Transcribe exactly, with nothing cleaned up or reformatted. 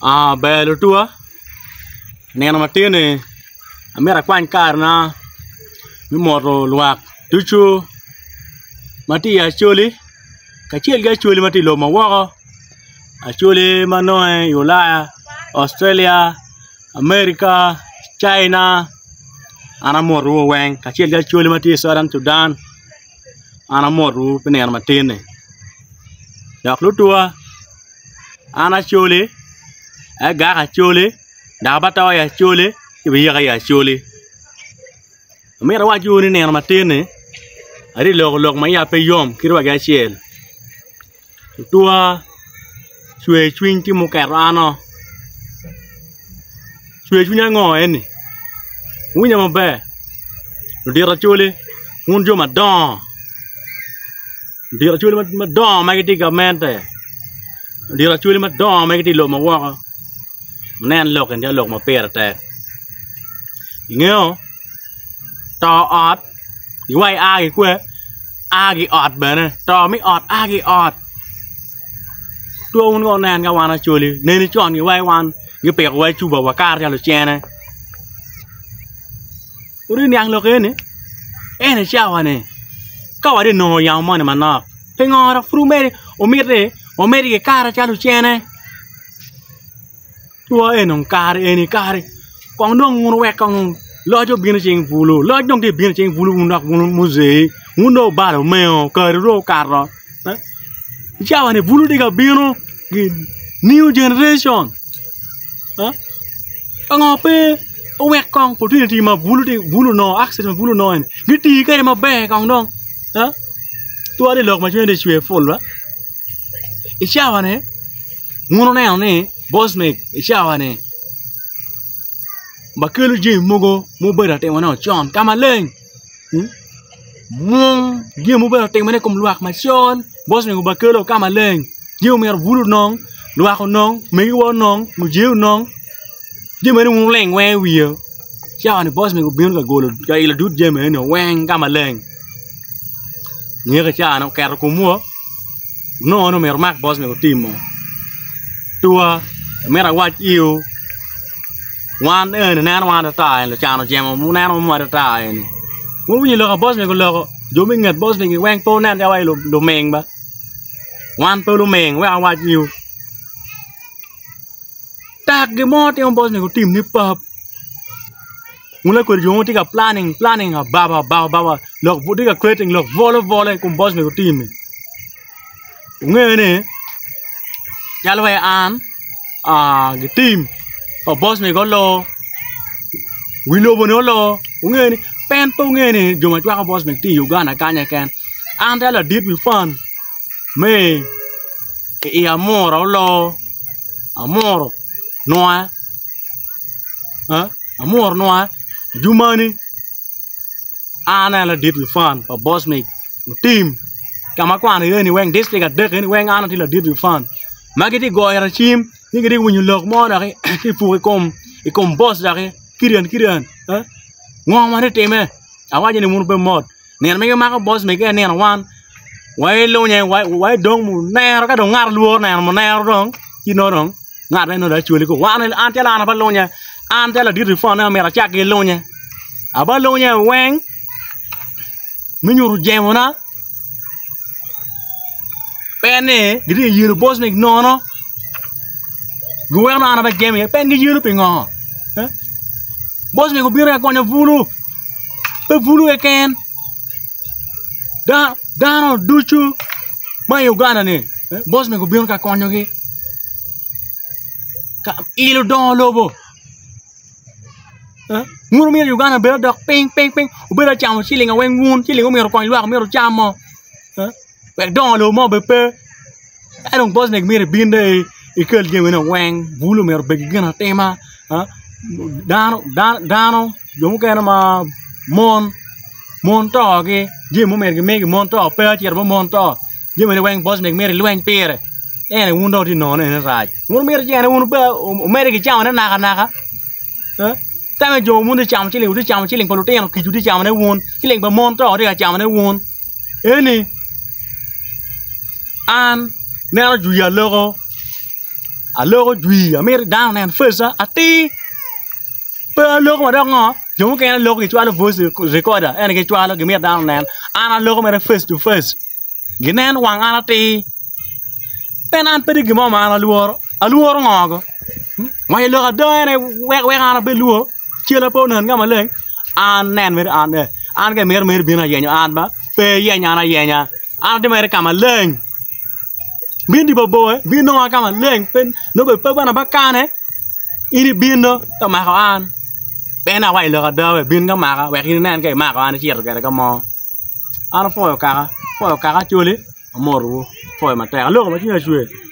Ber lutuwa nino matin-ni amito akwany karena me moto lwak ducu ma tye i Acholi kacel ki Acholi ma tye i lobo ma woko Acholi ma nonge i Ulaya, Australia, America, China an amotowu weng kacel ki Acholi ma tye i Southern Sudan an amotowu pi nino matin-ni dok lutuwa an Acholi agak Acholi dok abato i Acholi ci biyika i Acholi amito awacciwu ni nino matin-ni atye ka loko lok ma iya pe yom kadi wa ki acel lutuwa cwer cwiny tye muketo ano cwer cwiny ango eni wuwinja maber ludito Acholi wun jo madongo ludito Acholi madongo ma gitye i gamente ludito Acholi madongo ma gitye i lobo ma woko wunen lok eni tye lok ma pire tek ingeyo to ot giwaci a ki kwe a ki i ot bene to me ot a ki i ot two wun kong wunen ka wan Acholi neni con giwaci wan gipikowa i cupa wakato calo lucene wutye ka niang lok eni ento i cawa-ni ka watye ka nongo yamo moni manok pingo dok pud omiti wamedde ki kato calo lucene two eni dong kare eni kare kong dong wun wuwek kong loc obino i cing bulu loc dong tye ka bino i cing bulu wun dok wun muzei wun dong wubalo omengo kariwu dong okato i cawa-ni bulu tye ka bino new generation pingo pe wuwek kong opportunity ma bulu onongo access ma bulu onongo eni giti kwede maber kong dong twal i lok ma cwinye tye ka cwer pul ba i cawa-ni wun wuneno ni bosmic i cawa-ni bakelo jami mogo ma obedo ka timone con ka maleng mwong jami ma obedo ka timone i kom lwak macol bosmic obakelo ka maleng jami myero bulu onong lwak onong megiwa onong mujee onong jami meno wun wuling weng i wiye cawa-ni bosmic obino ka golo ka ilo dud jami eni weng ka maleng nyeko i cawa-ni oketo komwa onongo ni myero omak bosmic otimo tua amito awac iwu wan eni neno wan ata eni lucan ojemo neno wan ata eni wun wuwinyo lok a bosmic oloko jo me i nget bosmic weng pe wunen calo waci luming ba wan pe luming wek awac iwu tak gin mo timo bosmic otim ni pap wun lakodi jo mo tye ka planning planning ababa ababa ababa lok tye ka creating lok bolo bola i kom bosmic otim-mi wunge ni calo wai an gitim pa bosmic olo wi lobo-ni olo wunge ni en pe wunge ni jo ma cwako bosmic tye i Uganda kany keken an calo ladit wi fan me i amura olo amuro nwa amuro nwa jumani an aye ladit wi fan pa bosmic otim ka ma akwano iye ni weng dictrik adek eni weng an atye ladit wi fan ma gitye ka goyo ita cim ni gitye ka winyo lok mo doki tye ka puk i kom boc doki kiryen kiryen ngo ma tye ka timme awaco ni wun wubed mot nino ma gimako boc mege aye nino wan wailunye waidong munero ka dong ngat lworo neno munero dong ci nongo dong ngat meno dong acwali ko wan an calo an abalunye an calo ladit wi pone omyero acak ki lunye abalunye weng me nyuto jemona pe ni gitye ka yelo boc megi nono giweko nongo an ape jemo iye pe giyelo pingo boc megi obino ka konyo bulu pe bulu keken dano ducu ma i Uganda ni boc megi obino ka konyogi ka ilo dongo lobo wun wumito Uganda obed odok piny piny piny wubedo ka camo ciling weng wun ciling myero okony lwak myero wucam mo wek dongo lobo mo obed pe ka dong boc megi myero ibin dong ikel jamine weng bulu myero obed ki gin atima dano jo mukene ma mon mon togi jami mo myero gimigi mon to pe acito bot mon to jamine weng boc megi myero ilweny pire ene wun dong wutye ka nongo ni rac wun myero cene wun wumedde ki camone nakanaka tame jo wun wutye ka camo ciling wutye ka camo ciling pa lutino kic wutye ka camone wun ciling pa mon to wutye ka camone wun eni an neno jwi aloko Aloko jwi amito dano onen face atir pe aloko ma dok ngo jo mukene loko gicwalo voice recorder ene gicwalo gimito dano onen an aloko mere face to face ginen wang an atir pien an pe tye gin mo ma an alworo alworo ngo go waco lok ada ene wek wek an abed lwor cela pe onen ka maleng an nen mere an an ka imito mere ibino ayenyo an ba pe iyeny an ayenya an atye mere ka maleng bin di mabor bin nonga ka maleng pe nongo pe bene abakane in ibino ka mako an en awaco lok ada we bin ka maka wek in inen ka imako an icito kwede ka mo an apwoyo kaka apwoyo kaka Acholi amotowu apwoyo matek aloko ma cwinya cwer.